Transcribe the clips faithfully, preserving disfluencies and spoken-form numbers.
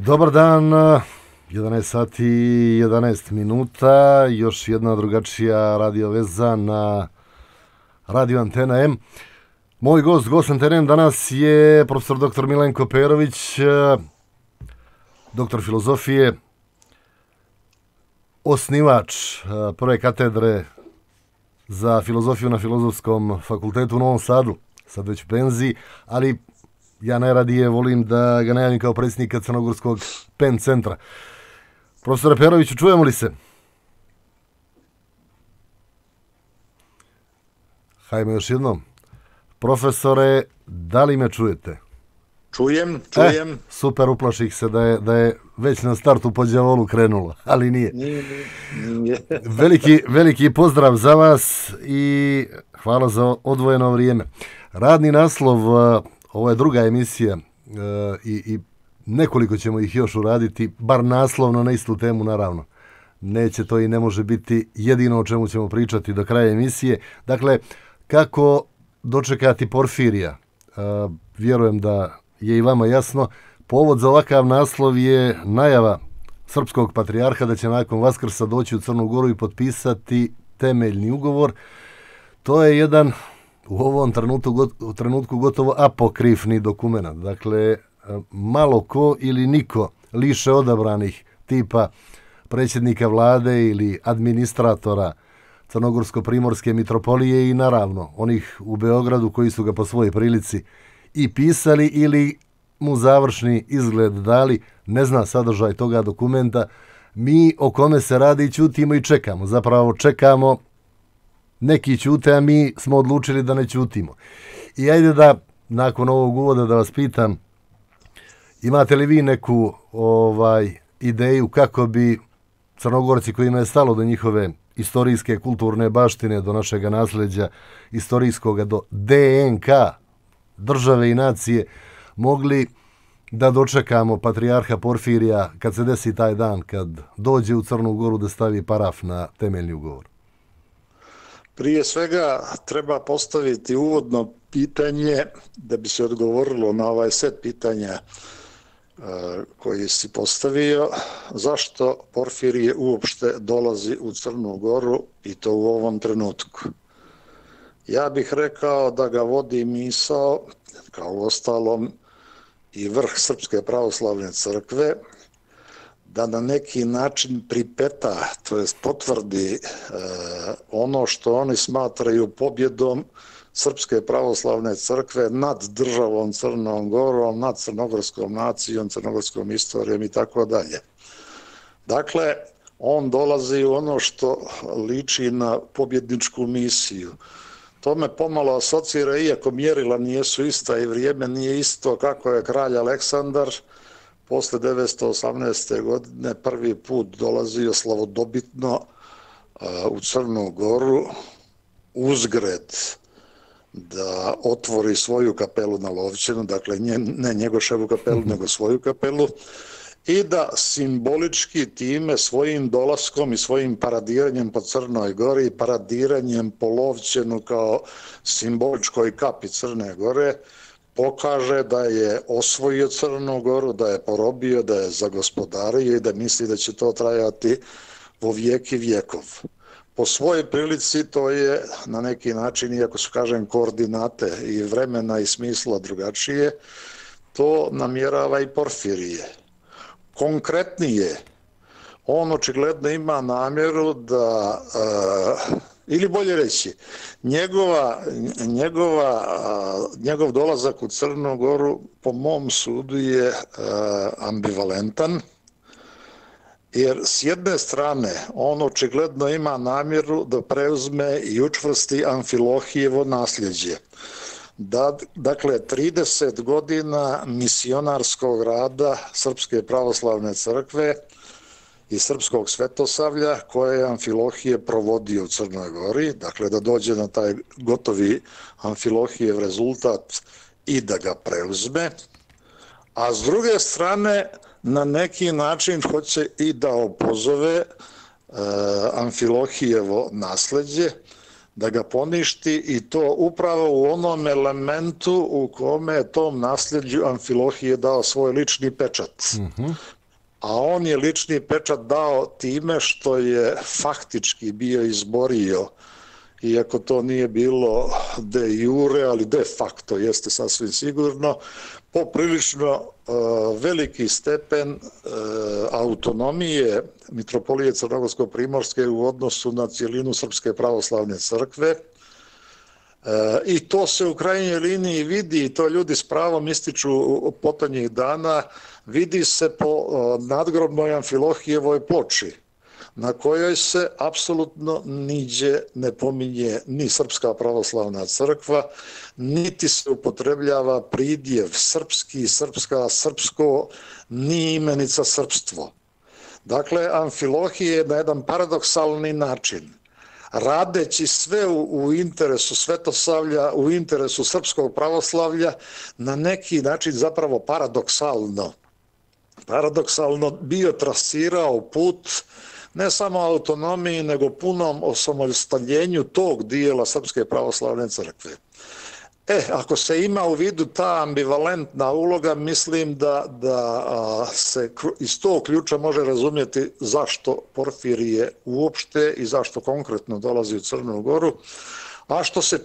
Dobar dan, jedanaest sati i jedanaest minuta, još jedna drugačija radio veza na Radio Antena M. Moj gost, gost Antena M danas je profesor doktor Milenko Perović, doktor filozofije, osnivač prve katedre za filozofiju na Filozofskom fakultetu u Novom Sadu, sad već u penziji, ali ja najradije volim da ga najavim kao predsjednika Crnogorskog Pen centra. Profesore Peroviću, čujemo li se? Hajmo još jednom. Profesore, da li me čujete? Čujem, čujem. E, super, uplaših se da je, da je već na startu po đavolu krenulo, ali nije. Nije, nije. Veliki, veliki pozdrav za vas i hvala za odvojeno vrijeme. Radni naslov, ovo je druga emisija i, i nekoliko ćemo ih još uraditi, bar naslovno na istu temu, naravno. Neće to i ne može biti jedino o čemu ćemo pričati do kraja emisije. Dakle, kako dočekati Porfirija? Vjerujem da je i vama jasno. Povod za ovakav naslov je najava srpskog patrijarha da će nakon Vaskrsa doći u Crnu Goru i potpisati temeljni ugovor. To je jedan u ovom trenutku, u trenutku gotovo apokrifni dokument. Dakle, malo ko ili niko liše odabranih tipa predsjednika vlade ili administratora Crnogorsko-primorske mitropolije i naravno onih u Beogradu koji su ga po svojoj prilici i pisali ili mu završni izgled dali, ne zna sadržaj toga dokumenta. Mi o kome se radi ćutimo i čekamo. Zapravo čekamo, neki ćute, a mi smo odlučili da ne ćutimo. I ajde da, nakon ovog uvoda, da vas pitam, imate li vi neku ovaj ideju kako bi Crnogorci kojima je stalo do njihove istorijske, kulturne baštine, do našega nasljeđa istorijskoga, do D N K države i nacije, mogli da dočekamo patrijarha Porfirija kad se desi taj dan, kad dođe u Crnu Goru da stavi paraf na temeljni ugovor? Prije svega treba postaviti uvodno pitanje da bi se odgovorilo na ovaj set pitanja koji si postavio, zašto Porfirije uopšte dolazi u Crnu Goru i to u ovom trenutku. Ja bih rekao da ga vodi misao, kao ostalom i vrh Srpske pravoslavne crkve, da na neki način pripeta, to jest potvrdi ono što oni smatraju pobjedom Srpske pravoslavne crkve nad državom Crnom Gorom, nad crnogorskom nacijom, crnogorskom istorijom i tako dalje. Dakle, on dolazi u ono što liči na pobjedničku misiju. To me pomalo asocira, iako mjerila nijesu ista i vrijeme nije isto, kako je kralj Aleksandar posle devetsto osamnaeste. godine prvi put dolazio slavodobitno u Crnu Goru uzgred da otvori svoju kapelu na Lovćenu, dakle ne Njegoševu kapelu, nego svoju kapelu, i da simbolički time svojim dolaskom i svojim paradiranjem po Crnoj Gori, paradiranjem po Lovćenu kao simboličkoj kapi Crne Gore, pokaže da je osvojio Crnu Goru, da je porobio, da je zagospodario i da misli da će to trajati vo vijek i vjekov. Po svojoj prilici to je na neki način, iako su, kažem, koordinate i vremena i smisla drugačije, to namjerava i Porfirije. Konkretnije, on očigledno ima namjeru da, ili bolje reći, njegova, njegova, njegov dolazak u Crnu Goru po mom sudu je ambivalentan, jer s jedne strane on očigledno ima namjeru da preuzme i učvrsti Amfilohijevo nasljeđe. Da, dakle, trideset godina misionarskog rada Srpske pravoslavne crkve i Srpskog svetosavlja koje je Amfilohije provodio u Crnoj Gori, dakle da dođe na taj gotovi Amfilohijev rezultat i da ga preuzme, a s druge strane na neki način hoće i da opozove e, Amfilohijevo nasljeđe, da ga poništi i to upravo u onom elementu u kome je tom nasljeđu Amfilohije dao svoj lični pečat. Mm-hmm. A on je lični pečat dao time što je faktički bio izborio, iako to nije bilo de jure, ali de facto jeste sasvim sigurno, poprilično uh, veliki stepen uh, autonomije Mitropolije Crnogorsko-Primorske u odnosu na cijelinu Srpske pravoslavne crkve. Uh, I to se u krajnjoj liniji vidi, i to ljudi s pravom ističu potonjih dana, vidi se po uh, nadgrobnoj Amfilohijevoj ploči, na kojoj se apsolutno niđe ne pominje ni Srpska pravoslavna crkva, niti se upotrebljava pridjev srpski, srpska, srpsko, ni imenica srpstvo. Dakle, Amfilohije je na jedan paradoksalni način, radeći sve u, u interesu Svetosavlja, u interesu srpskog pravoslavlja, na neki način zapravo paradoksalno, paradoksalno bio trasirao put ne samo autonomiji, nego punom osamostaljenju tog dijela Srpske pravoslavne crkve. E, ako se ima u vidu ta ambivalentna uloga, mislim da, da a, se iz tog ključa može razumjeti zašto Porfirije uopšte i zašto konkretno dolazi u Crnu Goru. A što se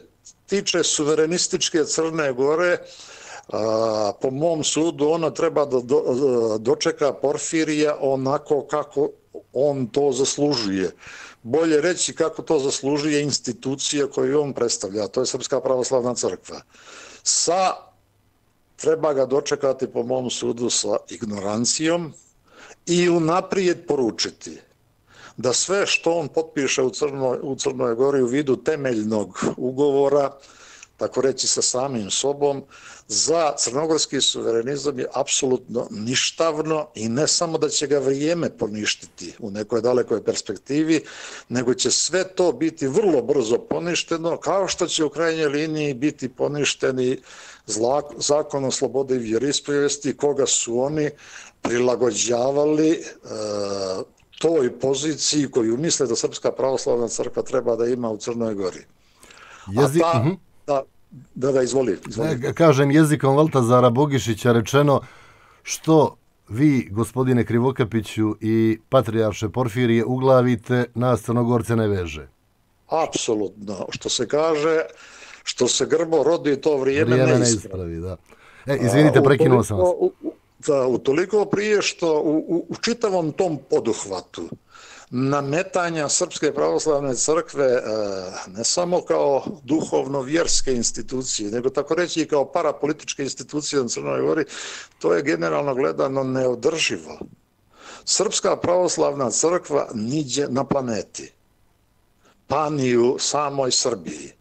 tiče suverenističke Crne Gore, a, po mom sudu ona treba da do, dočeka Porfirija onako kako on to zaslužuje. Bolje reći kako to zaslužuje institucija koju on predstavlja, a to je Srpska pravoslavna crkva. Sa, treba ga dočekati po mom sudu sa ignorancijom i unaprijed poručiti da sve što on potpiše u Crnoj, u Crnoj Gori u vidu temeljnog ugovora, tako reći sa samim sobom, za crnogorski suverenizam je apsolutno ništavno i ne samo da će ga vrijeme poništiti u nekoj dalekoj perspektivi, nego će sve to biti vrlo brzo poništeno, kao što će u krajnjoj liniji biti poništeni zakon o slobodi i vjeroispovijesti, koga su oni prilagođavali e, toj poziciji koju misle da Srpska pravoslavna crkva treba da ima u Crnoj Gori. Jezi... A ta, uh-huh. da, da, da, izvoli. izvoli. Ne, kažem jezikom Valtazara Bogišića rečeno, što vi, gospodine Krivokapiću i patrijarše Porfirije, uglavite, nas Crnogorce ne veže. Apsolutno. Što se kaže, što se grbo rodi, to vrijeme, vrijeme ne ispravi. Da. E, izvinite, prekinuo sam vas. U, u, da, utoliko prije što u, u, u čitavom tom poduhvatu nametanja Srpske pravoslavne crkve ne samo kao duhovno-vjerske institucije, nego tako reći i kao parapolitičke institucije na Crnoj Gori, to je generalno gledano neodrživo. Srpska pravoslavna crkva niđe na planeti, pa ni u samoj Srbiji,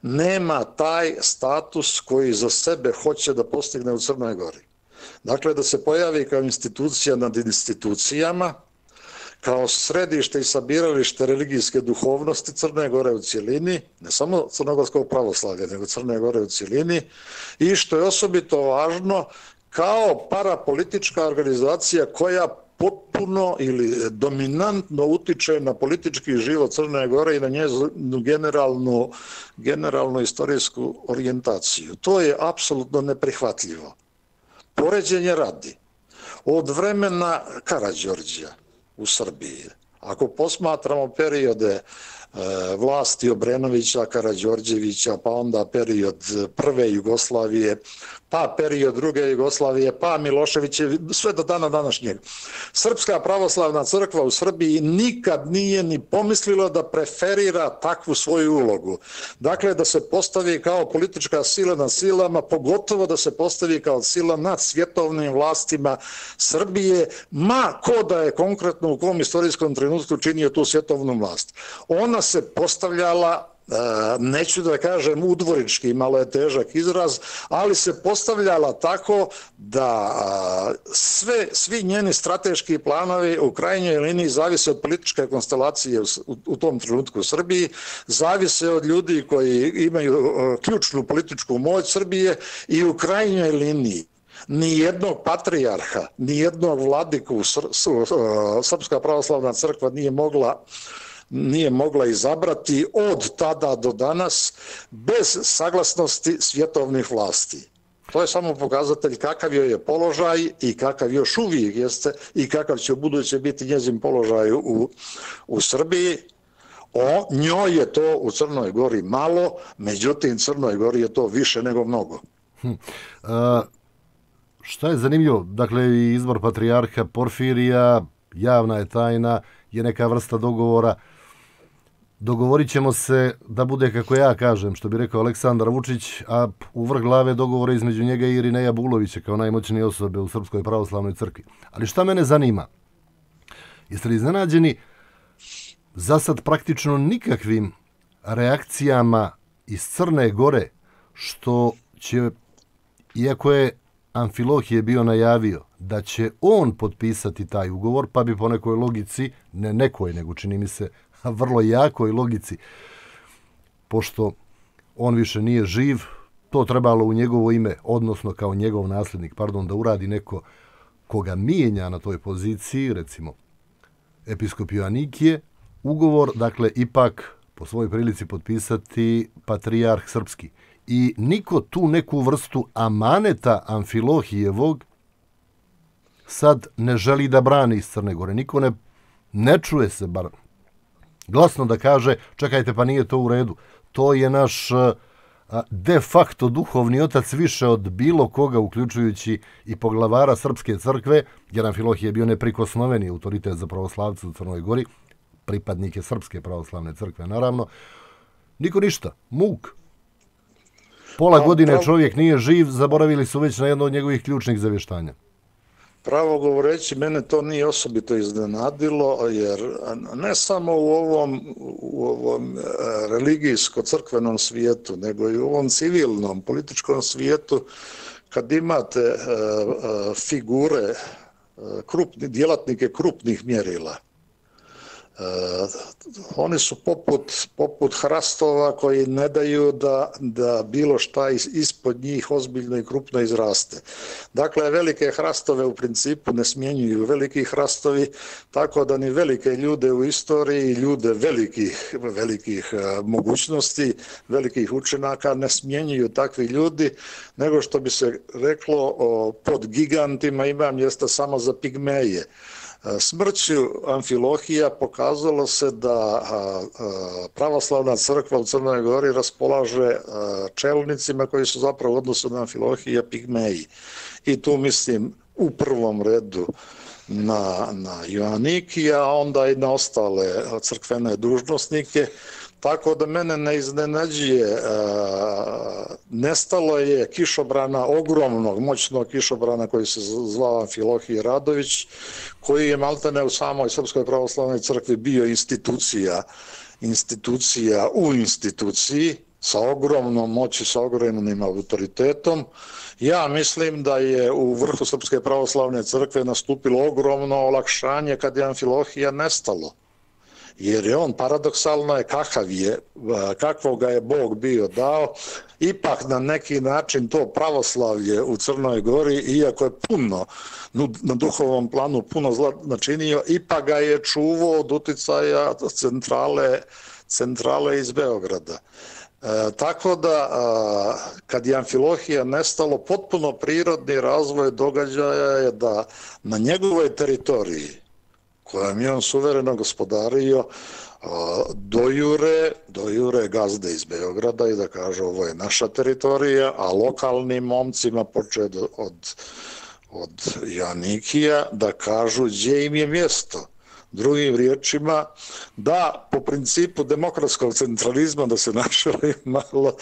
nema taj status koji za sebe hoće da postigne u Crnoj Gori. Dakle, da se pojavi kao institucija nad institucijama, kao središte i sabiralište religijske duhovnosti Crne Gore u cjelini, ne samo crnogorskog pravoslavlja, nego Crne Gore u cjelini, i što je osobito važno, kao parapolitička organizacija koja potpuno ili dominantno utiče na politički život Crne Gore i na njezinu generalnu, generalnu istorijsku orijentaciju. To je apsolutno neprihvatljivo. Poređenje radi. Od vremena Karađorđa u Srbiji, ako posmatramo periode e, vlasti Obrenovića, Karađorđevića, pa onda period prve Jugoslavije, pa period druge Jugoslavije, pa Miloševiće, sve do dana današnjeg. Srpska pravoslavna crkva u Srbiji nikad nije ni pomislila da preferira takvu svoju ulogu. Dakle, da se postavi kao politička sila nad silama, pogotovo da se postavi kao sila nad svjetovnim vlastima Srbije, ma ko da je konkretno u kom istorijskom trenutku činio tu svjetovnu vlast. Ona se postavljala, neću da kažem udvorički, malo je težak izraz, ali se postavljala tako da sve, svi njeni strateški planovi u krajnjoj liniji zavise od političke konstelacije u, u tom trenutku u Srbiji, zavise od ljudi koji imaju ključnu političku moć Srbije i u krajnjoj liniji ni jednog patrijarha, ni jednog vladiku Srpska pravoslavna crkva nije mogla nije mogla izabrati od tada do danas bez saglasnosti svjetovnih vlasti. To je samo pokazatelj kakav joj je položaj i kakav još uvijek jeste i kakav će u buduće biti njezin položaj u, u Srbiji. O, njoj je to u Crnoj Gori malo, međutim Crnoj Gori je to više nego mnogo. Hm. A, šta je zanimljivo? Dakle, izbor patrijarha Porfirija, javna je tajna, je neka vrsta dogovora. Dogovorit ćemo se da bude, kako ja kažem, što bi rekao Aleksandar Vučić, a u vrh glave dogovora između njega i Irineja Bulovića kao najmoćnije osobe u Srpskoj pravoslavnoj crkvi. Ali šta mene zanima? Jeste li iznenađeni za sad praktično nikakvim reakcijama iz Crne Gore, što će, iako je Amfilohije bio najavio da će on potpisati taj ugovor, pa bi po nekoj logici, ne nekoj, nego čini mi se vrlo jakoj logici, pošto on više nije živ, to trebalo u njegovo ime, odnosno kao njegov nasljednik, pardon, da uradi neko koga mijenja na toj poziciji, recimo episkop Joanikije, ugovor, dakle, ipak po svojoj prilici potpisati patrijarh srpski. I niko tu neku vrstu amaneta Amfilohijevog sad ne želi da brani iz Crne Gore. Niko ne, ne čuje se bar glasno da kaže, čekajte, pa nije to u redu. To je naš de facto duhovni otac više od bilo koga, uključujući i poglavara Srpske crkve, jer Amfilohije je bio neprikosnoveni autoritet za pravoslavce u Crnoj Gori, pripadnike Srpske pravoslavne crkve, naravno. Niko ništa, muk. Pola no, godine prav... čovjek nije živ, zaboravili su već na jedno od njegovih ključnih zavještanja. Pravo govoreći, mene to nije osobito iznenadilo, jer ne samo u ovom, u ovom religijsko-crkvenom svijetu, nego i u ovom civilnom, političkom svijetu, kad imate uh, figure, uh, krupni, djelatnike krupnih mjerila, Uh, oni su poput, poput hrastova koji ne daju da, da bilo šta is, ispod njih ozbiljno i krupno izraste. Dakle, velike hrastove u principu ne smjenjuju veliki hrastovi, tako da ni velike ljude u istoriji, ljude velikih, velikih uh, mogućnosti, velikih učenaka ne smjenjuju takvi ljudi, nego što bi se reklo o, pod gigantima ima mjesta samo za pigmeje. Smrću Amfilohija pokazalo se da pravoslavna crkva u Crnoj Gori raspolaže čelnicima koji su zapravo u odnosu na Amfilohija pigmeji. I tu mislim u prvom redu na, na Joanikija, a onda i na ostale crkvene dužnosnike. Tako da mene ne iznenađuje, nestalo je kišobrana, ogromnog, moćnog kišobrana koji se zvao Amfilohije Radović, koji je maltene u samoj Srpskoj pravoslavnoj crkvi bio institucija, institucija u instituciji, sa ogromnom moći, sa ogromnim autoritetom. Ja mislim da je u vrhu Srpske pravoslavne crkve nastupilo ogromno olakšanje kad je Amfilohija nestalo. Jer je on, paradoksalno je kakav je, kakvog ga je Bog bio dao, ipak na neki način to pravoslavlje u Crnoj Gori, iako je puno, na duhovnom planu puno zla načinio, ipak ga je čuvao od uticaja centrale, centrale iz Beograda. E, tako da, a, kad je Amfilohija nestalo, potpuno prirodni razvoj događaja je da na njegovoj teritoriji, kojom je on suvereno gospodario, dojure, dojure gazde iz Beograda i da kaže ovo je naša teritorija, a lokalnim momcima počeo od, od Joanikija da kažu gdje im je mjesto. Drugim riječima, da po principu demokratskog centralizma, da se našali malo,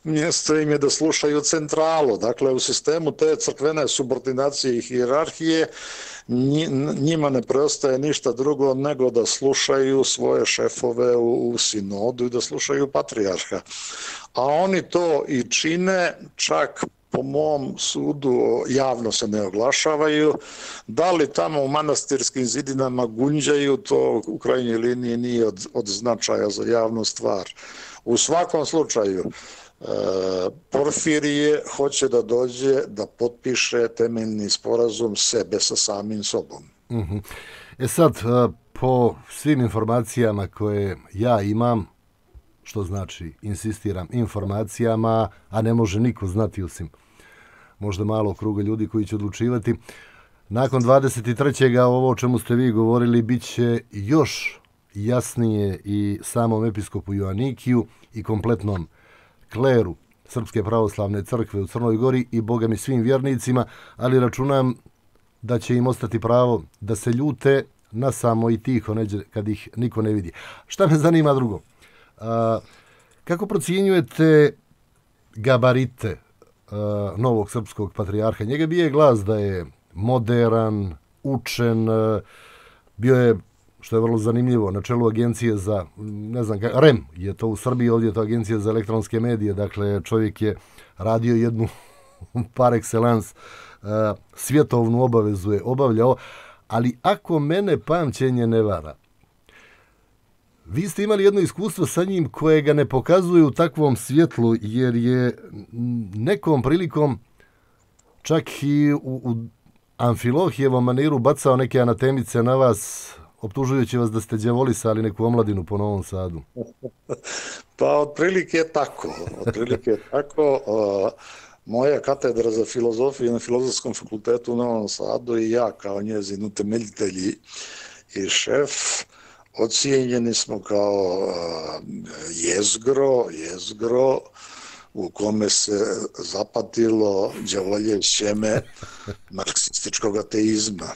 mjesto im je da slušaju centralu. Dakle, u sistemu te crkvene subordinacije i hijerarhije njima ne preostaje ništa drugo nego da slušaju svoje šefove u, u sinodu i da slušaju patrijarha. A oni to i čine, čak po mom sudu javno se ne oglašavaju. Da li tamo u manastirskim zidinama gunđaju, to u krajnjoj liniji nije od, od značaja za javnu stvar. U svakom slučaju, e, Porfirije hoće da dođe da potpiše temeljni sporazum sebe sa samim sobom. Mm-hmm. E sad, po svim informacijama koje ja imam, što znači, insistiram, informacijama, a ne može niko znati osim možda malo kruga ljudi koji će odlučivati, nakon dvadeset trećeg ovo o čemu ste vi govorili bit će još jasnije i samom episkopu Joanikiju i kompletnom kleru Srpske pravoslavne crkve u Crnoj Gori i boga mi svim vjernicima, ali računam da će im ostati pravo da se ljute na samo i tiho neđe kad ih niko ne vidi. Šta me zanima drugo? A, kako procjenjujete gabarite a, novog srpskog patrijarha? Njega bije glas da je moderan, učen, a, bio je, što je vrlo zanimljivo, na čelu agencije za, ne znam, R E M je to u Srbiji, ovdje je to agencija za elektronske medije, dakle čovjek je radio jednu par excellence svjetovnu obavezu je obavljao, ali ako mene pamćenje ne vara, vi ste imali jedno iskustvo sa njim koje ga ne pokazuje u takvom svjetlu, jer je nekom prilikom čak i u, u Amfilohijevom maniru bacao neke anatemice na vas, optužujući vas da ste đavolisali neku omladinu po Novom Sadu. Pa otprilike je tako. Otprilike je tako. Moja katedra za filozofiju na Filozofskom fakultetu u Novom Sadu i ja kao njezin utemeljitelji i šef ocijenjeni smo kao jezgro, jezgro u kome se zapatilo đavolje sjeme marksističkog ateizma.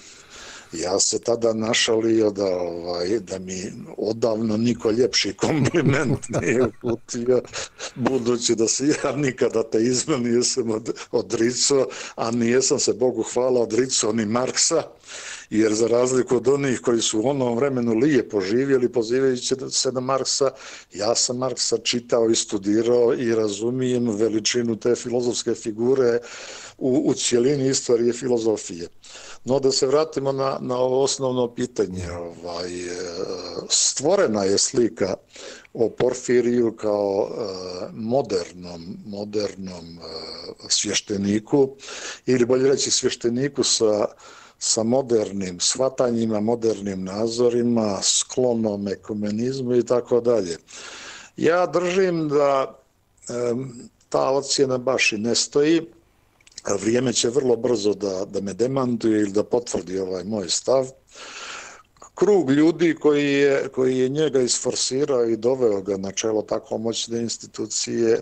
Ja se tada našalio da, ovaj, da mi odavno niko ljepši kompliment nije uputio, budući da se ja nikada ateizma nisam od, odricao, a nijesam se, Bogu hvala, odricao ni Marksa, jer za razliku od onih koji su u onom vremenu lijepo živjeli pozivajući se na Marksa, ja sam Marksa čitao i studirao i razumijem veličinu te filozofske figure u, u cijelini istorije filozofije. No da se vratimo na, na ovo osnovno pitanje. Ovaj, stvorena je slika o Porfiriju kao modernom, modernom svješteniku, ili bolje reći svješteniku sa, sa modernim shvatanjima, modernim nazorima, sklonom ekumenizmu i tako dalje. Ja držim da ta ocjena baš i ne stoji. Vrijeme će vrlo brzo da, da me demantuje ili da potvrdi ovaj moj stav. Krug ljudi koji je, koji je njega isforsirao i doveo ga na čelo tako moćne institucije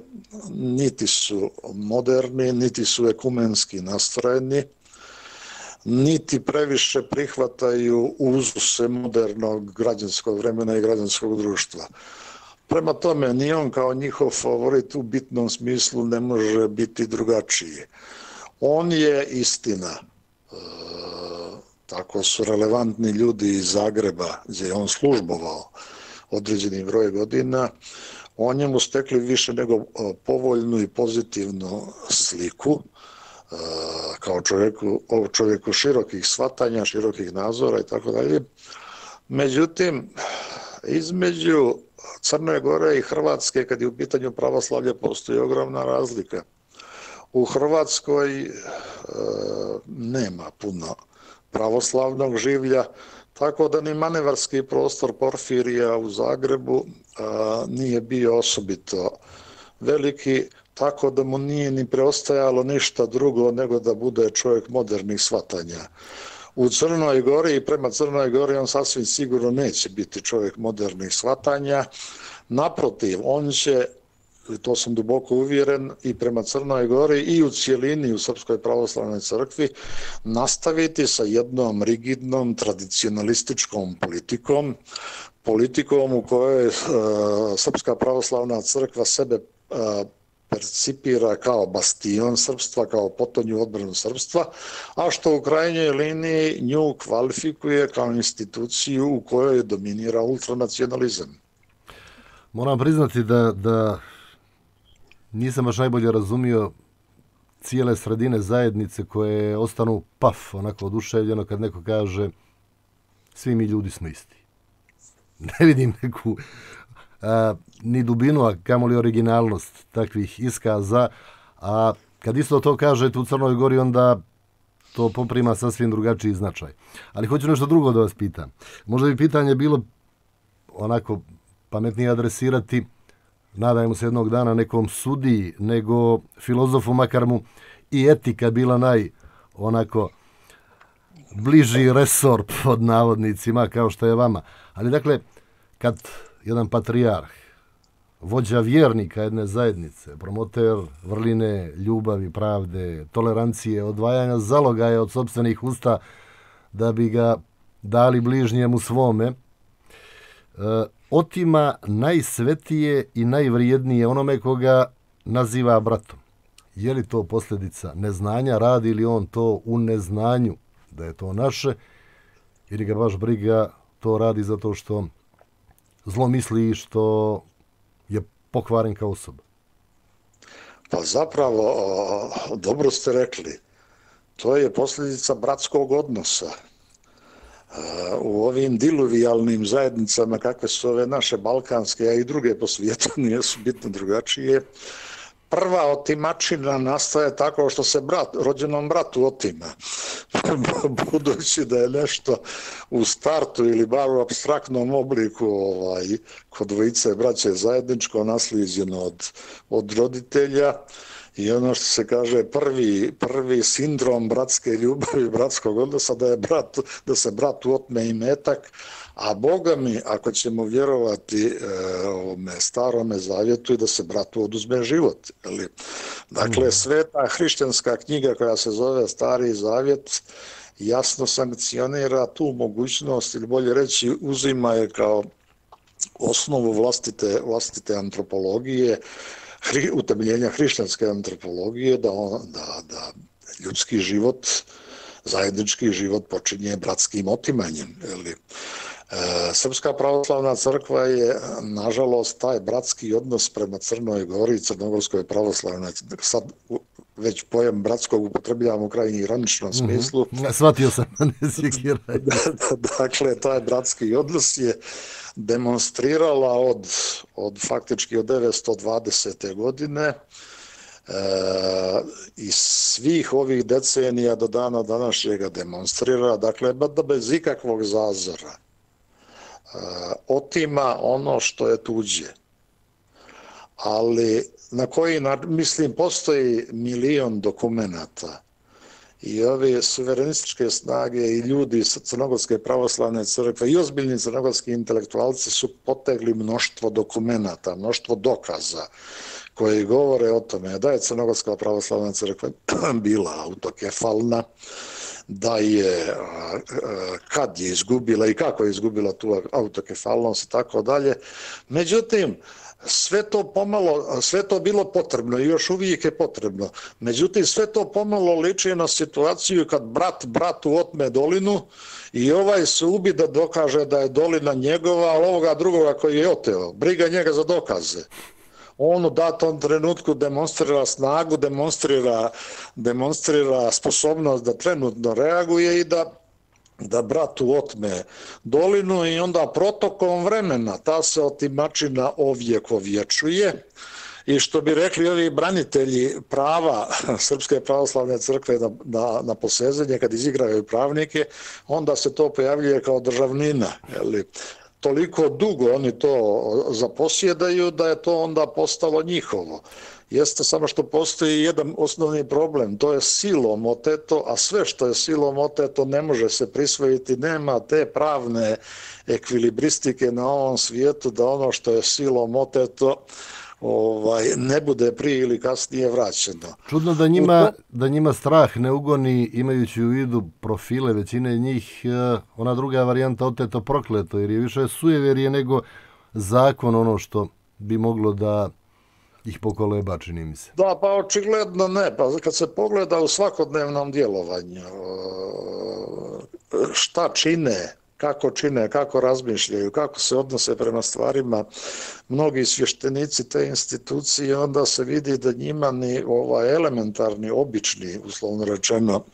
niti su moderni, niti su ekumenski nastrojeni, niti previše prihvataju uzuse modernog građanskog vremena i građanskog društva. Prema tome, ni on kao njihov favorit u bitnom smislu ne može biti drugačiji. On je istina, e, tako su relevantni ljudi iz Zagreba, gdje je on službovao određeni broj godina, o njemu stekli više nego povoljnu i pozitivnu sliku, e, kao čovjeku, čovjeku širokih shvatanja, širokih nazora i tako dalje. Međutim, između Crne Gore i Hrvatske, kad je u pitanju pravoslavlja, postoji ogromna razlika. U Hrvatskoj e, nema puno pravoslavnog življa, tako da ni manevarski prostor Porfirija u Zagrebu e, nije bio osobito veliki, tako da mu nije ni preostajalo ništa drugo nego da bude čovjek modernih shvatanja. U Crnoj Gori i prema Crnoj Gori on sasvim sigurno neće biti čovjek modernih shvatanja. Naprotiv, on će, to sam duboko uvjeren, i prema Crnoj Gori i u cijelini u Srpskoj pravoslavnoj crkvi nastaviti sa jednom rigidnom tradicionalističkom politikom, politikom u kojoj e, Srpska pravoslavna crkva sebe e, percipira kao bastion srpstva, kao potonju odbranu srpstva, a što u krajnjoj liniji nju kvalifikuje kao instituciju u kojoj dominira ultranacionalizam. Moram priznati da, da nisam baš najbolje razumio cijele sredine zajednice koje ostanu paf, onako oduševljeno kad neko kaže svi mi ljudi smo isti. Ne vidim neku a, ni dubinu, a kamoli originalnost takvih iskaza, a kad isto to kažete u Crnoj Gori, onda to poprima sasvim drugačiji značaj. Ali hoću nešto drugo da vas pitam. Možda bi pitanje bilo onako pametnije adresirati, nadajmo se jednog dana, nekom sudiji, nego filozofu, makar mu i etika bila naj onako bliži resor pod navodnicima, kao što je vama. Ali dakle, kad jedan patrijarh, vođa vjernika jedne zajednice, promoter vrline, ljubavi, pravde, tolerancije, odvajanja zalogaja od sopstvenih usta da bi ga dali bližnjemu svome, otima najsvetije i najvrijednije onome koga naziva bratom. Je li to posljedica neznanja, radi li on to u neznanju da je to naše, ili ga baš briga to radi zato što zlo misli i što je pokvaren kao osoba? Pa zapravo, dobro ste rekli, to je posljedica bratskog odnosa. U ovim diluvijalnim zajednicama, kakve su ove naše balkanske, a i druge po svijetu, nisu bitno drugačije, prva otimačina nastaje tako što se brat, rođenom bratu otima. Budući da je nešto u startu ili bar u apstraktnom obliku ovaj, kod dvojice braće zajedničko naslijeđeno od, od roditelja, i ono što se kaže prvi, prvi sindrom bratske ljubavi, bratskog odnosa, da, je brat, da se bratu otme imetak, a Boga mi, ako ćemo vjerovati e, ovome starome zavjetu, i da se bratu oduzme život. Ili, dakle, sveta hrišćanska knjiga koja se zove Stari zavjet jasno sankcionira tu mogućnost, ili bolje reći uzima je kao osnovu vlastite, vlastite antropologije, hri, utemeljenja hrišćanske antropologije, da, on, da, da ljudski život, zajednički život počinje bratskim otimanjem. Ili, Srpska pravoslavna crkva je, nažalost, taj bratski odnos prema Crnoj Gori i Crnogorskoj pravoslavnoj, sad već pojam bratskog upotrebljavam u krajnji ironičnom smislu. Mm-hmm. Shvatio sam, ne sikiraj. Dakle, taj bratski odnos je demonstrirala od, od faktički od devetsto dvadesete godine e, i svih ovih decenija do dana današnjega demonstrira, dakle, da bez ikakvog zazora otima ono što je tuđe. Ali na koji, mislim, postoji milion dokumenata i ove suverenističke snage i ljudi iz Crnogorske pravoslavne crkve i ozbiljni crnogorski intelektualci su potegli mnoštvo dokumenata, mnoštvo dokaza koji govore o tome da je Crnogorska pravoslavna crkva bila autokefalna, da je, kad je izgubila i kako je izgubila tu autokefalnost i tako dalje. Međutim, sve to pomalo, sve to bilo potrebno i još uvijek je potrebno. Međutim, sve to pomalo liči na situaciju kad brat bratu otme dolinu i ovaj se ubi da dokaže da je dolina njegova, ali ovoga drugoga koji je oteo, briga njega za dokaze. On u datom trenutku demonstrira snagu, demonstrira, demonstrira sposobnost da trenutno reaguje i da, da bratu otme dolinu i onda protokom vremena ta se otimačina ovjekovječuje. I što bi rekli ovi branitelji prava Srpske pravoslavne crkve na, na, na posezanje, kad izigravaju pravnike, onda se to pojavljuje kao državnina, jeli? Toliko dugo oni to zaposjedaju da je to onda postalo njihovo. Jeste samo što postoji jedan osnovni problem, to je silom oteto, a sve što je silom oteto ne može se prisvojiti, nema te pravne ekvilibristike na ovom svijetu da ono što je silom oteto ovaj, ne bude prije ili kasnije vraćeno. Čudno da njima, da njima strah ne ugoni, imajući u vidu profile većine njih, ona druga varijanta oteto prokleto, jer je više sujeverije nego zakon ono što bi moglo da ih pokoleba, čini mi se. Da, pa očigledno ne. Pa kad se pogleda u svakodnevnom djelovanju, šta čine, kako čine, kako razmišljaju, kako se odnose prema stvarima mnogi svještenici te institucije, onda se vidi da njima ni ovaj elementarni, obični, uslovno rečeno,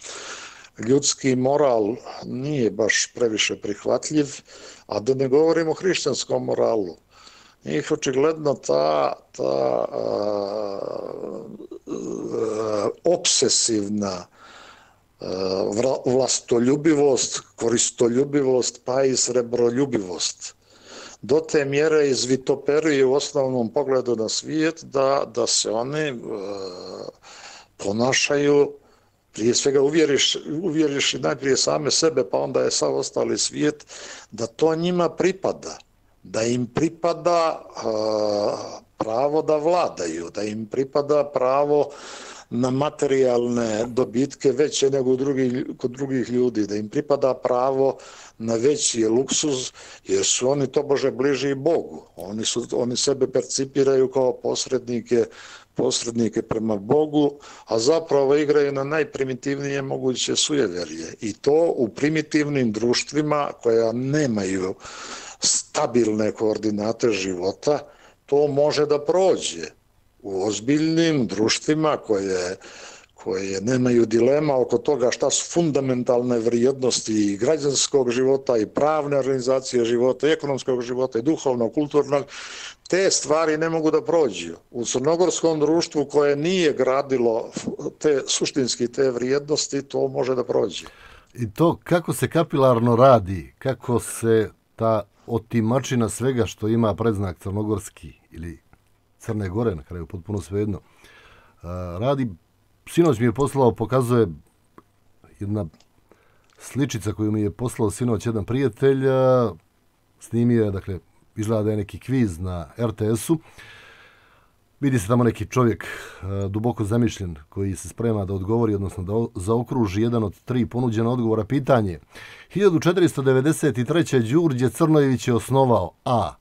ljudski moral nije baš previše prihvatljiv, a da ne govorimo o hrišćanskom moralu. Njih očigledno ta, ta a, a, obsesivna vlastoljubivost, koristoljubivost, pa i srebroljubivost. Do te mjere izvitoperuju u osnovnom pogledu na svijet da, da se oni e, ponašaju, prije svega uvjeriš, uvjeriš najprije same sebe, pa onda je sav ostali svijet, da to njima pripada, da im pripada e, pravo da vladaju, da im pripada pravo na materijalne dobitke veće nego drugi, kod drugih ljudi, da im pripada pravo na veći luksuz, jer su oni tobože bliži Bogu. Oni, su, oni sebe percipiraju kao posrednike, posrednike prema Bogu, a zapravo igraju na najprimitivnije moguće sujeverje. I to u primitivnim društvima koja nemaju stabilne koordinate života, to može da prođe. U ozbiljnim društvima koje, koje nemaju dilema oko toga šta su fundamentalne vrijednosti i građanskog života i pravne organizacije života, i ekonomskog života i duhovnog, kulturnog, te stvari ne mogu da prođu. U crnogorskom društvu koje nije gradilo te, suštinski te vrijednosti, to može da prođe. I to kako se kapilarno radi, kako se ta otimačina svega što ima predznak crnogorski ili Crne Gore, na kraju potpuno svejedno, radi. Sinoć mi je poslao, pokazuje jedna sličica koju mi je poslao sinoć jedan prijatelj, snimio je, dakle, izgleda da je neki kviz na er te esu. Vidi se tamo neki čovjek duboko zamišljen koji se sprema da odgovori, odnosno da zaokruži jedan od tri ponuđena odgovora. Pitanje: hiljadu četiristo devedeset treće. Đurđe Crnojević je osnovao A.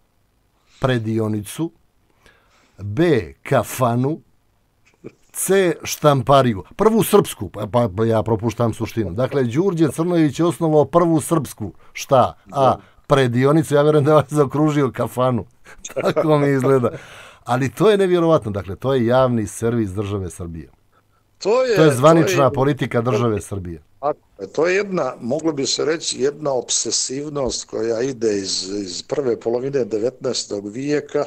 Predionicu, B. Kafanu, C. Štampariju. Prvu srpsku, pa, pa ja propuštam suštinu. Dakle, Đurđe Crnojević je osnovao prvu srpsku. Šta? A. Predionicu, ja vjerujem da vas zaokružio Kafanu. Tako mi izgleda. Ali to je nevjerovatno. Dakle, to je javni servis države Srbije. To je, to je zvanična to je, politika države Srbije. To je jedna, moglo bi se reći, jedna obsesivnost koja ide iz, iz prve polovine devetnaestog vijeka,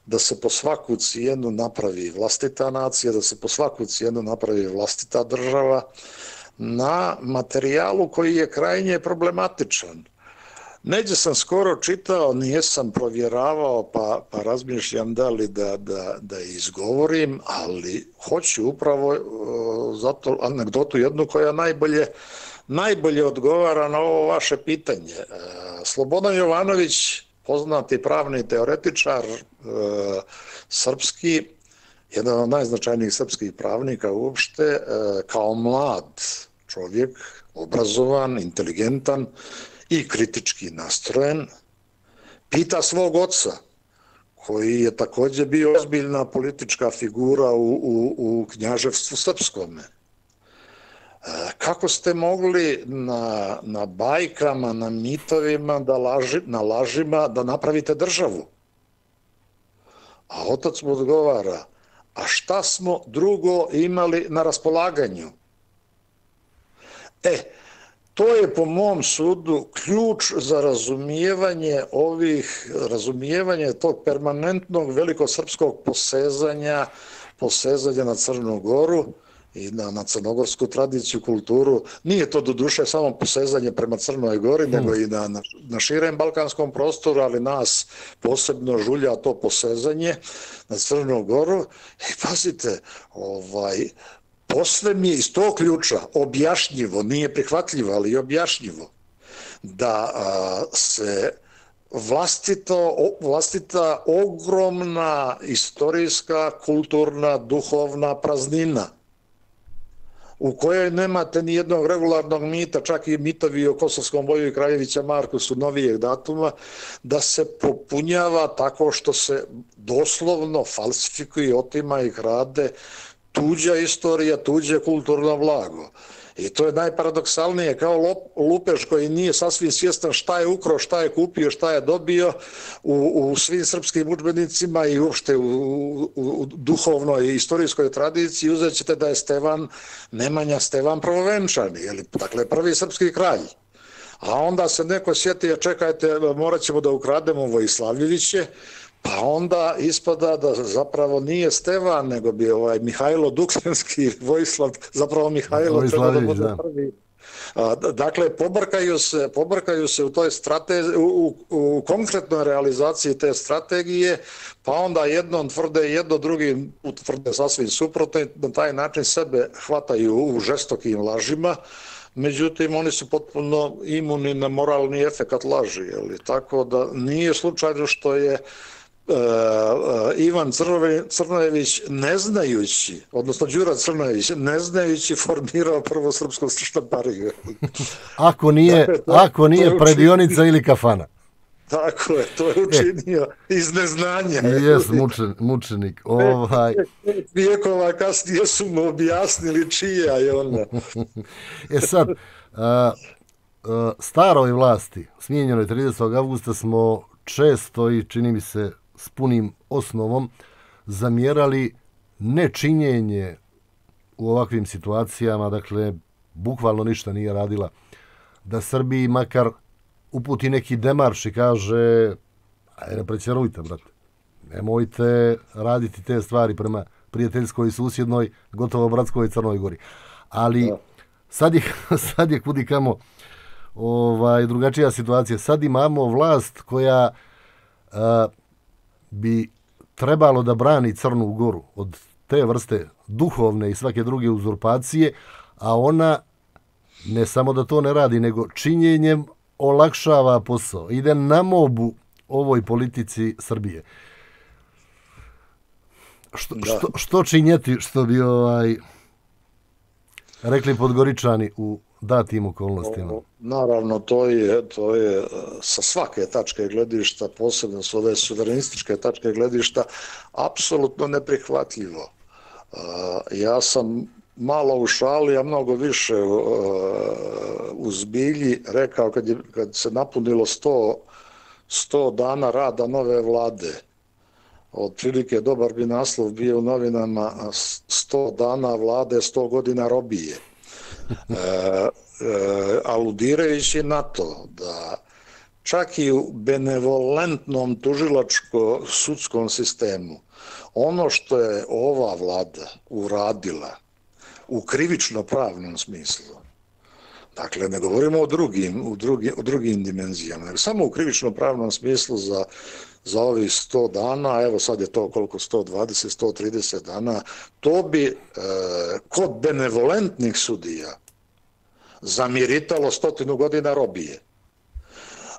da se po svaku cijenu napravi vlastita nacija, da se po svaku cijenu napravi vlastita država na materijalu koji je krajnje problematičan. Neđe sam skoro čitao, nijesam provjeravao, pa, pa razmišljam da li da, da, da izgovorim, ali hoću upravo uh, zato anegdotu jednu koja najbolje, najbolje odgovara na ovo vaše pitanje. Uh, Slobodan Jovanović, poznati pravni teoretičar, e, srpski, jedan od najznačajnijih srpskih pravnika uopšte, e, kao mlad čovjek, obrazovan, inteligentan i kritički nastrojen, pita svog oca, koji je također bio ozbiljna politička figura u, u, u knjaževstvu srpskome. Kako ste mogli na, na bajkama, na mitovima, da laži, na lažima da napravite državu? A otac mu odgovara: a šta smo drugo imali na raspolaganju? E, to je po mom sudu ključ za razumijevanje ovih, razumijevanje tog permanentnog velikosrpskog posezanja, posezanja na Crnu Goru i na, na crnogorsku tradiciju, kulturu. Nije to do duše samo posezanje prema Crnoj Gori, hmm. nego i na, na, na širem balkanskom prostoru, ali nas posebno žulja to posezanje na Crnu Goru. I pazite, ovaj, posle mi je iz tog ključa objašnjivo, nije prihvatljivo, ali i objašnjivo, da a, se vlastito, vlastita ogromna istorijska, kulturna, duhovna praznina u kojoj nemate ni jednog regularnog mita, čak i mitovi o Kosovskom boju i Kraljevića Marku su novijeg datuma, da se popunjava tako što se doslovno falsifikuje, otima i krade tuđa istorija, tuđe kulturno blago. I to je najparadoksalnije, kao lupež koji nije sasvim svjestan šta je ukro, šta je kupio, šta je dobio u, u svim srpskim udžbenicima i uopšte u, u, u duhovnoj i istorijskoj tradiciji. Uzet ćete da je Stevan Nemanja Stevan Prvovenčani, jeli, dakle prvi srpski kralj. A onda se neko sjeti, čekajte, morat ćemo da ukrademo Vojislavljeviće, Pa onda ispada da zapravo nije Stevan, nego bi ovaj Mihajlo Duklenski, Vojislav, zapravo Mihajlo treba da bude prvi. Dakle, pobrkaju se, pobrkaju se u toj strategiji, u, u konkretnoj realizaciji te strategije, pa onda jednom tvrde jedno, drugi tvrde sasvim suprotno i na taj način sebe hvataju u žestokim lažima. Međutim, oni su potpuno imuni na moralni efekat laži. Jeli? Tako da nije slučajno što je Uh, uh, Ivan Crnojević ne znajući, odnosno Đura Crnojević ne znajući formirao prvo srpsku štampariju. Ako nije, dakle, to, ako nije predionica ili kafana. Tako je, to je učinio e, iz neznanja. Jes, mučen, mučenik. Ovaj... Vijekova kasnije su mu objasnili čija je ona. E sad, a, a, staroj vlasti, smijenjenoj tridesetog avgusta, smo često i čini mi se s punim osnovom zamjerali nečinjenje u ovakvim situacijama, dakle, bukvalno ništa nije radila, da Srbiji makar uputi neki demarš i kaže, ajde, ne prećerujte, brate, nemojte raditi te stvari prema prijateljskoj i susjednoj, gotovo bratskoj Crnoj Gori. Ali sad je, sad je kudi kamo ovaj, drugačija situacija. Sad imamo vlast koja a, bi trebalo da brani Crnu Goru od te vrste duhovne i svake druge uzurpacije, a ona ne samo da to ne radi, nego činjenjem olakšava posao. Ide na mobu ovoj politici Srbije. Što, što, što činjeti, što bi ovaj rekli Podgoričani u datim okolnostima? O, naravno, to je, to je sa svake tačke gledišta, posebno s ove suverenističke tačke gledišta, apsolutno neprihvatljivo. Uh, ja sam malo u šali, a mnogo više uh, u zbilji rekao kad, je, kad se napunilo sto dana rada nove vlade. Otprilike dobar bi naslov bio u novinama sto dana vlade, sto godina robije. E, e, aludirajući na to da čak i u benevolentnom tužilačko-sudskom sistemu ono što je ova vlada uradila u krivično-pravnom smislu, dakle ne govorimo o drugim, u drugim, o drugim dimenzijama, nego samo u krivično-pravnom smislu za za ovih sto dana, evo sad je to koliko, sto dvadeset, sto trideset dana, to bi e, kod benevolentnih sudija zamiritalo stotinu godina robije.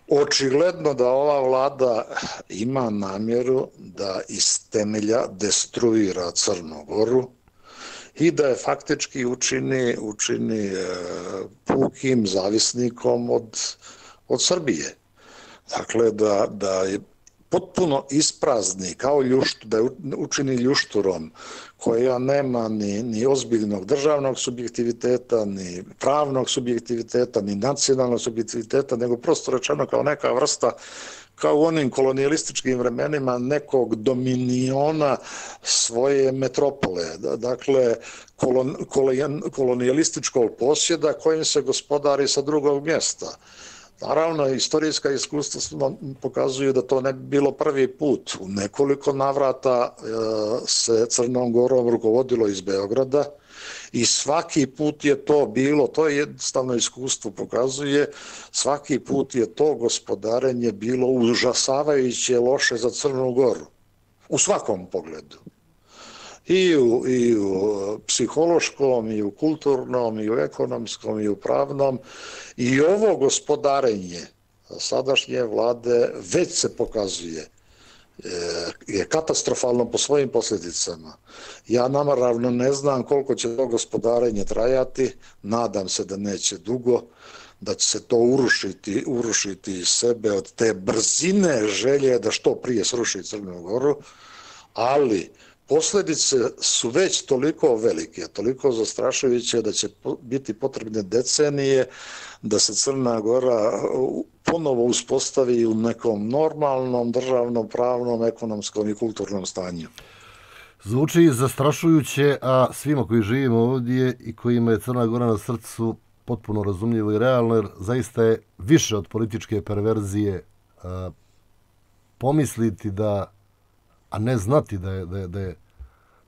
Očigledno da ova vlada ima namjeru da iz temelja destruira Crnu Goru i da je faktički učini, učini e, pukim zavisnikom od, od Srbije. Dakle, da, da je potpuno isprazni kao ljuštu, da je učini ljušturom koja nema ni, ni ozbiljnog državnog subjektiviteta, ni pravnog subjektiviteta, ni nacionalnog subjektiviteta, nego prosto rečeno kao neka vrsta, kao u onim kolonijalističkim vremenima, nekog dominiona svoje metropole. Dakle, kolon, kolon, kolonijalističkog posjeda kojim se gospodari sa drugog mjesta. Naravno, istorijska iskustva pokazuju da to ne bi bilo prvi put. U nekoliko navrata e, se Crnom Gorom rukovodilo iz Beograda i svaki put je to bilo, to je jednostavno iskustvo pokazuje, svaki put je to gospodarenje bilo užasavajuće loše za Crnu Goru. U svakom pogledu. I u, i u psihološkom, i u kulturnom, i u ekonomskom, i u pravnom. I ovo gospodarenje sadašnje vlade već se pokazuje je katastrofalno po svojim posljedicama. Ja naravno ne znam koliko će to gospodarenje trajati, nadam se da neće dugo, da će se to urušiti, urušiti iz sebe od te brzine želje da što prije sruši Crnu Goru, ali posljedice su već toliko velike, toliko zastrašujuće da će biti potrebne decenije da se Crna Gora ponovo uspostavi u nekom normalnom, državnom, pravnom, ekonomskom i kulturnom stanju. Zvuči zastrašujuće, a svima koji živimo ovdje i kojima je Crna Gora na srcu potpuno razumljivo i realno, jer zaista je više od političke perverzije a, pomisliti da a ne znati da je, da je, da je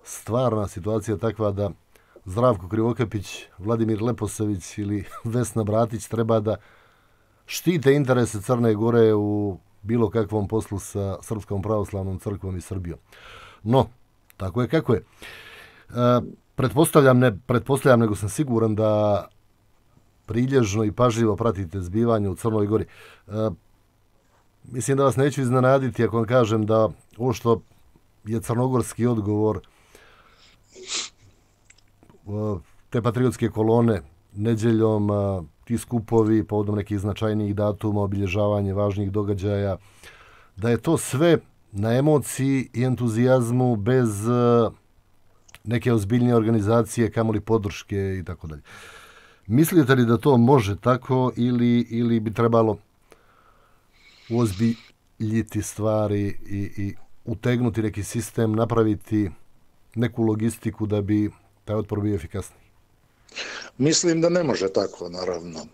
stvarna situacija takva da Zdravko Krivokapić, Vladimir Leposavić ili Vesna Bratić treba da štite interese Crne Gore u bilo kakvom poslu sa Srpskom pravoslavnom crkvom i Srbijom. No, tako je kako je. E, pretpostavljam, ne pretpostavljam, nego sam siguran da prilježno i pažljivo pratite zbivanje u Crnoj Gori. E, mislim da vas neću iznenaditi ako vam kažem da ovo što je crnogorski odgovor te patriotske kolone nedeljom, ti skupovi povodom nekih značajnijih datuma, obilježavanje važnih događaja, da je to sve na emociji i entuzijazmu bez neke ozbiljnije organizacije, kamoli podrške i tako dalje. Mislite li da to može tako ili, ili bi trebalo ozbiljiti stvari i, i utegnuti neki sistem, napraviti neku logistiku da bi taj otpor bio efikasniji? Mislim da ne može tako, naravno. E,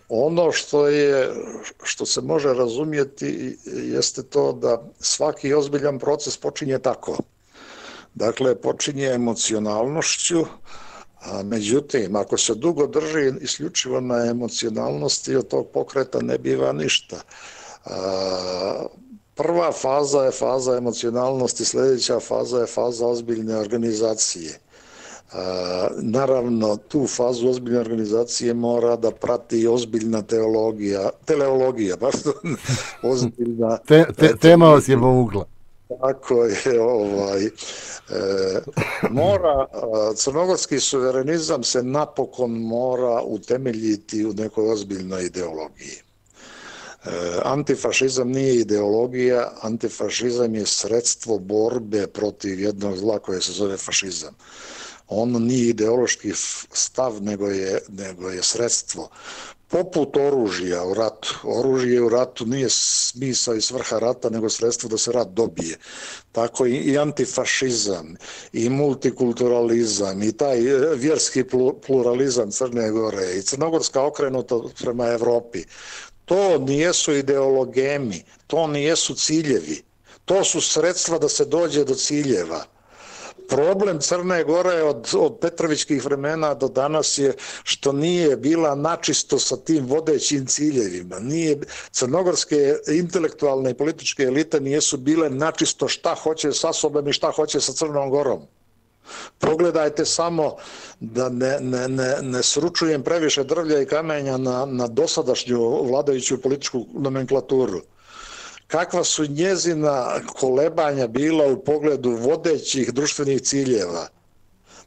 ono što je, što se može razumjeti jeste to da svaki ozbiljan proces počinje tako. Dakle, počinje emocionalnošću, a međutim, ako se dugo drži isključivo na emocionalnosti, od tog pokreta ne biva ništa. A, prva faza je faza emocionalnosti, sljedeća faza je faza ozbiljne organizacije. A, naravno, tu fazu ozbiljne organizacije mora da prati ozbiljna teologija, teleologija, pardon, ozbiljna... Te, te, tema vas je povukla. Tako je, ovaj, e, mora, crnogorski suverenizam se napokon mora utemeljiti u nekoj ozbiljnoj ideologiji. E, antifašizam nije ideologija, antifašizam je sredstvo borbe protiv jednog zla koje se zove fašizam. On nije ideološki stav, nego je, nego je sredstvo. Poput oružja u ratu. Oružje u ratu nije smisao i svrha rata, nego sredstvo da se rat dobije. Tako i antifašizam, i multikulturalizam, i taj vjerski pluralizam Crne Gore, i crnogorska okrenuta prema Evropi. To nijesu ideologemi, to nijesu ciljevi. To su sredstva da se dođe do ciljeva. Problem Crne Gore od, od Petrovićkih vremena do danas je što nije bila načisto sa tim vodećim ciljevima. Nije, crnogorske intelektualne i političke elite nijesu bile načisto šta hoće sa sobom i šta hoće sa Crnom Gorom. Pogledajte samo da ne, ne, ne, ne sručujem previše drvlja i kamenja na, na dosadašnju vladajuću političku nomenklaturu. Kakva su njezina kolebanja bila u pogledu vodećih društvenih ciljeva.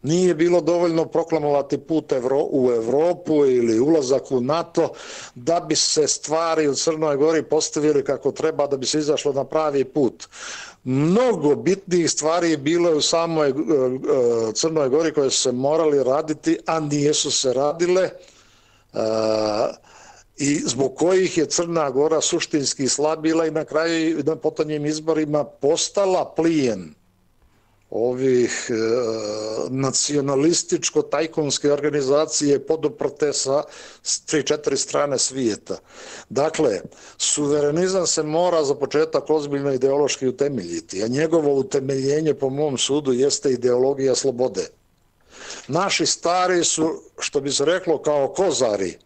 Nije bilo dovoljno proklamovati put u Evropu ili ulazak u NATO da bi se stvari u Crnoj Gori postavili kako treba, da bi se izašlo na pravi put. Mnogo bitnijih stvari bilo je u samoj Crnoj Gori koje su se morali raditi, a nijesu se radile, i zbog kojih je Crna Gora suštinski slabila i na kraju na potonjim izborima postala plijen ovih e, nacionalističko-tajkunske organizacije poduprte sa tri četiri strane svijeta. Dakle, suverenizam se mora za početak ozbiljno ideološki utemeljiti, a njegovo utemeljenje po mom sudu jeste ideologija slobode. Naši stari su, što bi se reklo, kao kozari,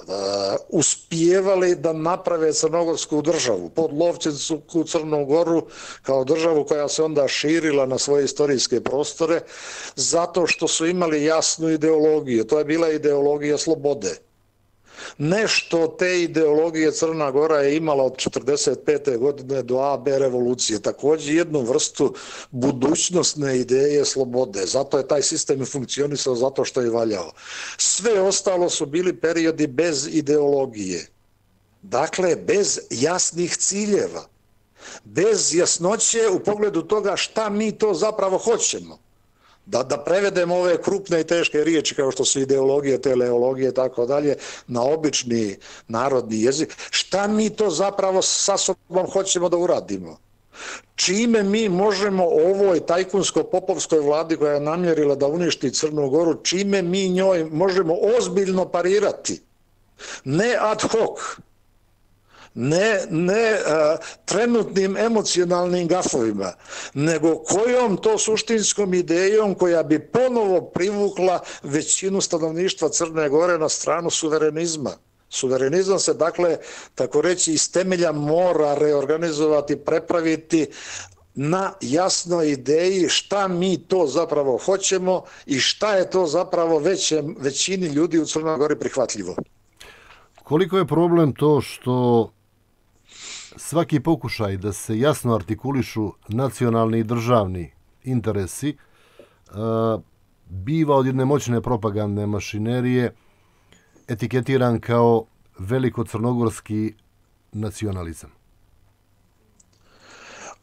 da uspijevali da naprave crnogorsku državu, podlovčinsku Crnu Goru kao državu koja se onda širila na svoje istorijske prostore zato što su imali jasnu ideologiju. To je bila ideologija slobode. Nešto te ideologije Crna Gora je imala od četrdeset pete godine do A B revolucije. Također jednu vrstu budućnostne ideje slobode. Zato je taj sistem funkcionisao, zato što je valjao. Sve ostalo su bili periodi bez ideologije. Dakle, bez jasnih ciljeva. Bez jasnoće u pogledu toga šta mi to zapravo hoćemo. Da, da prevedemo ove krupne i teške riječi kao što su ideologije, teleologije i tako dalje na obični narodni jezik. Šta mi to zapravo sa sobom hoćemo da uradimo? Čime mi možemo ovoj tajkunsko-popovskoj vladi koja je namjerila da uništi Crnu Goru, čime mi njoj možemo ozbiljno parirati? Ne ad hoc, ne, ne a, trenutnim emocionalnim gafovima, nego kojom to suštinskom idejom koja bi ponovo privukla većinu stanovništva Crne Gore na stranu suverenizma. Suverenizam se, dakle, tako reći, iz temelja mora reorganizovati, prepraviti na jasnoj ideji šta mi to zapravo hoćemo i šta je to zapravo većem, većini ljudi u Crnoj Gori prihvatljivo. Koliko je problem to što svaki pokušaj da se jasno artikulišu nacionalni i državni interesi biva od jedne moćne propagandne mašinerije etiketiran kao veliko crnogorski nacionalizam?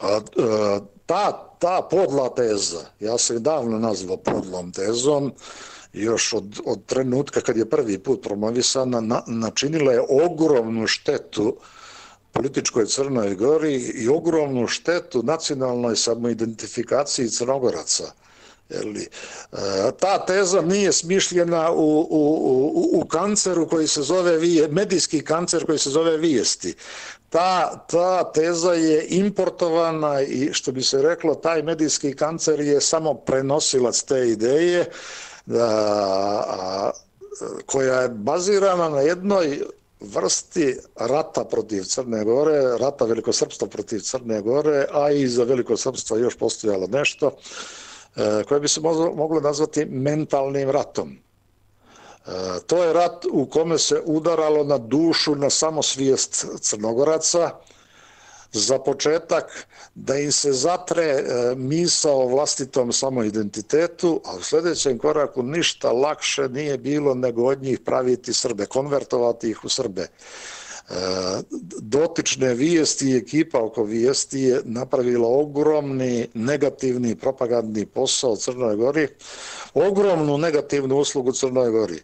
A, a, ta, ta podla teza, ja sam je davno nazvao podlom tezom, još od, od trenutka kad je prvi put promovisana, na, načinila je ogromnu štetu političkoj Crnoj Gori i ogromnu štetu nacionalnoj samoidentifikaciji Crnogoraca. Jeli, ta teza nije smišljena u, u, u, u kanceru koji se zove, medijski kancer koji se zove vijesti. Ta, ta teza je importovana i, što bi se reklo, taj medijski kancer je samo prenosilac te ideje da, koja je bazirana na jednoj vrsti rata protiv Crne Gore, rata velikosrpstva protiv Crne Gore, a i za velikosrpstva još postojalo nešto koje bi se moglo nazvati mentalnim ratom. To je rat u kome se udaralo na dušu, na samosvijest Crnogoraca, za početak da im se zatre misao o vlastitom samoidentitetu, a u sljedećem koraku ništa lakše nije bilo nego od njih praviti Srbe, konvertovati ih u Srbe. Dotične vijesti i ekipa oko vijesti je napravila ogromni negativni propagandni posao u Crnoj Gori, ogromnu negativnu uslugu Crnoj Gori.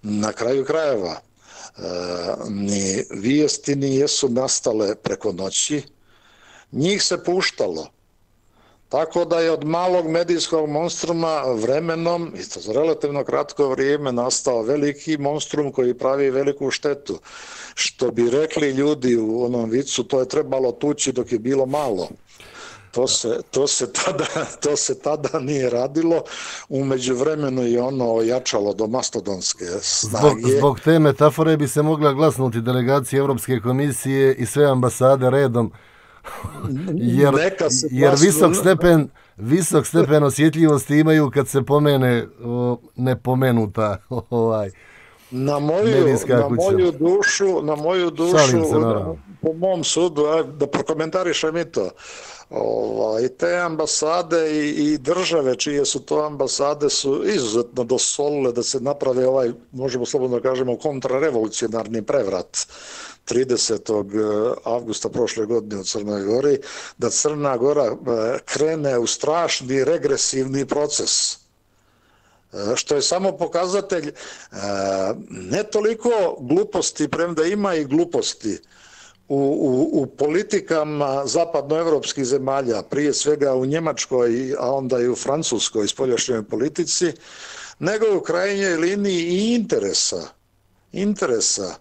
Na kraju krajeva, ni vijesti nijesu nastale preko noći, njih se puštalo. Tako da je od malog medijskog monstruma vremenom, i to za relativno kratko vrijeme, nastao veliki monstrum koji pravi veliku štetu. Što bi rekli ljudi u onom vicu, to je trebalo tući dok je bilo malo. To se, to se, tada, to se tada nije radilo, u međuvremenu je ono ojačalo do mastodonske snage. Zbog, zbog te metafore bi se mogla glasnuti delegacije Evropske komisije i sve ambasade redom, jer, jer visok stepen, visok stepen osjetljivosti imaju kad se pomene o, nepomenuta ovaj, na moju, na moju dušu, na moju dušu, se, po mom sudu, da prokomentarišem i to, ovaj, te ambasade i, i države čije su to ambasade su izuzetno dosolile da se naprave ovaj, možemo slobodno da kažemo, kontrarevolucionarni prevrat tridesetog avgusta prošle godine u Crnoj Gori, da Crna Gora krene u strašni regresivni proces, što je samo pokazatelj ne toliko gluposti, premda ima i gluposti u, u, u politikama zapadnoevropskih zemalja, prije svega u Njemačkoj, a onda i u Francuskoj spoljašnjoj politici, nego u krajnjoj liniji i interesa. Interesa.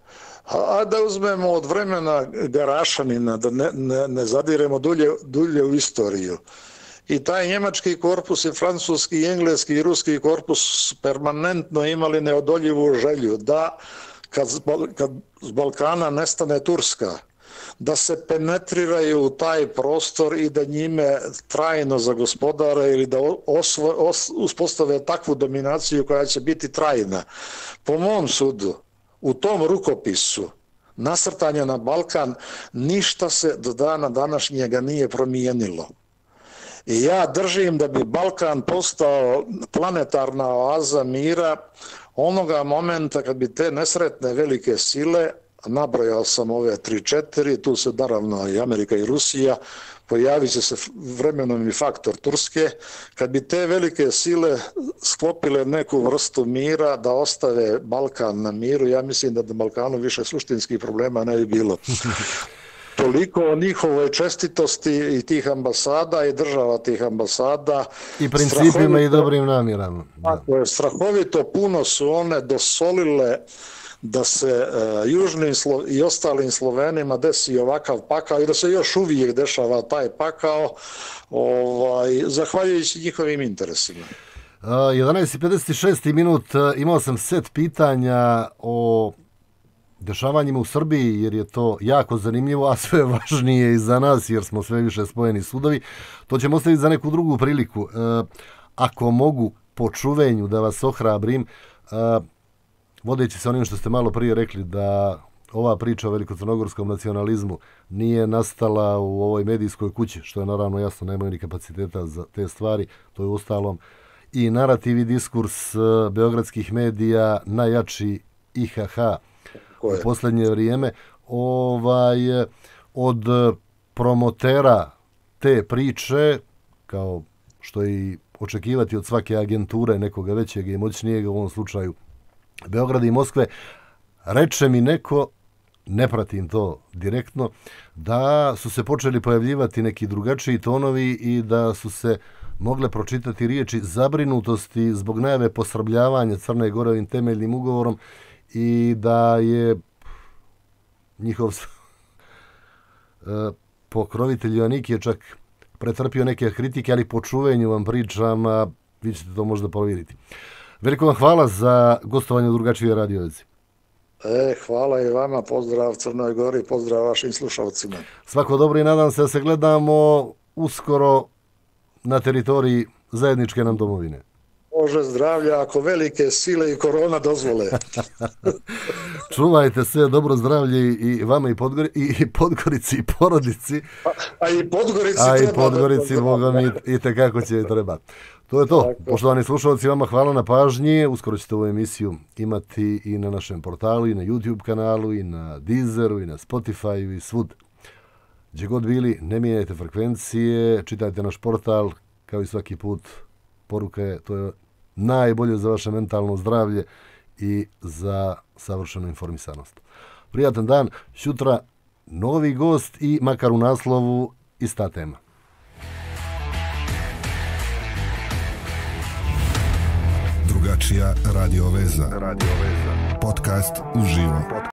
A da uzmemo od vremena Garašanina, da ne, ne, ne zadiremo dulje, dulje u istoriju. I taj njemački korpus i francuski, i engleski i ruski korpus permanentno imali neodoljivu želju da kad, kad z Balkana nestane Turska, da se penetriraju u taj prostor i da njime trajno zagospodare ili da osvo, os, uspostave takvu dominaciju koja će biti trajna. Po mom sudu, u tom rukopisu nasrtanja na Balkan ništa se do dana današnjega nije promijenilo. I ja držim da bi Balkan postao planetarna oaza mira onoga momenta kad bi te nesretne velike sile, nabrojao sam ove tri četiri, tu se naravno i Amerika i Rusija, pojavit će se vremenom i faktor Turske, kad bi te velike sile sklopile neku vrstu mira da ostave Balkan na miru, ja mislim da na Balkanu više suštinskih problema ne bi bilo. Toliko o njihovoj čestitosti i tih ambasada i država tih ambasada. I principima i dobrim namjerama. Tako je, strahovito puno su one dosolile da se uh, južnim Slo- i ostalim Slovenima desi ovakav pakao i da se još uvijek dešava taj pakao, ovaj, zahvaljujući njihovim interesima. Uh, jedanaest i pedeset šest minut, uh, imao sam set pitanja o dešavanjima u Srbiji, jer je to jako zanimljivo, a sve važnije i za nas, jer smo sve više spojeni sudovi. To ćemo ostaviti za neku drugu priliku. Uh, ako mogu po čuvenju da vas ohrabrim, uh, vodeći se onim što ste malo prije rekli, da ova priča o velikocrnogorskom nacionalizmu nije nastala u ovoj medijskoj kući, što je naravno jasno, nemaju ni kapaciteta za te stvari, to je ustalom i narativ i diskurs uh, beogradskih medija, najjači I H H u posljednje vrijeme, ovaj, od promotera te priče, kao što i očekivati od svake agenture nekoga većeg i moćnijeg, u ovom slučaju Beograda i Moskve, reče mi neko, ne pratim to direktno, da su se počeli pojavljivati neki drugačiji tonovi i da su se mogle pročitati riječi zabrinutosti zbog najave posrbljavanja Crne Gore ovim temeljnim ugovorom i da je njihov pokrovitelj Joannik je čak pretrpio neke kritike, ali po čuvenju vam pričam, a vi ćete to možda provjeriti. Veliko vam hvala za gostovanje u drugačijoj radiovezi. E, hvala i vama, pozdrav Crnoj Gori, pozdrav vašim slušalcima. Svako dobro i nadam se da se gledamo uskoro na teritoriji zajedničke nam domovine. Bože zdravlja, ako velike sile i korona dozvole. Čuvajte se, dobro zdravlje i vama i, Podgori, i Podgorici i porodici. A, a i Podgorici a treba. A i Podgorici, Boga mi, i tekako će treba. To je to. Tako. Poštovani slušalci, vama hvala na pažnji. Uskoro ćete ovu emisiju imati i na našem portalu, i na YouTube kanalu, i na Deezeru, i na Spotify, i svud. Gdje god bili, ne mijenjajte frekvencije, čitajte naš portal, kao i svaki put. Poruka je, to je najbolje za vaše mentalno zdravlje i za savršenu informisanost. Prijatan dan, sutra novi gost i makar u naslovu ista tema. Drugačija radio veza. Radio veza. Podcast uživo.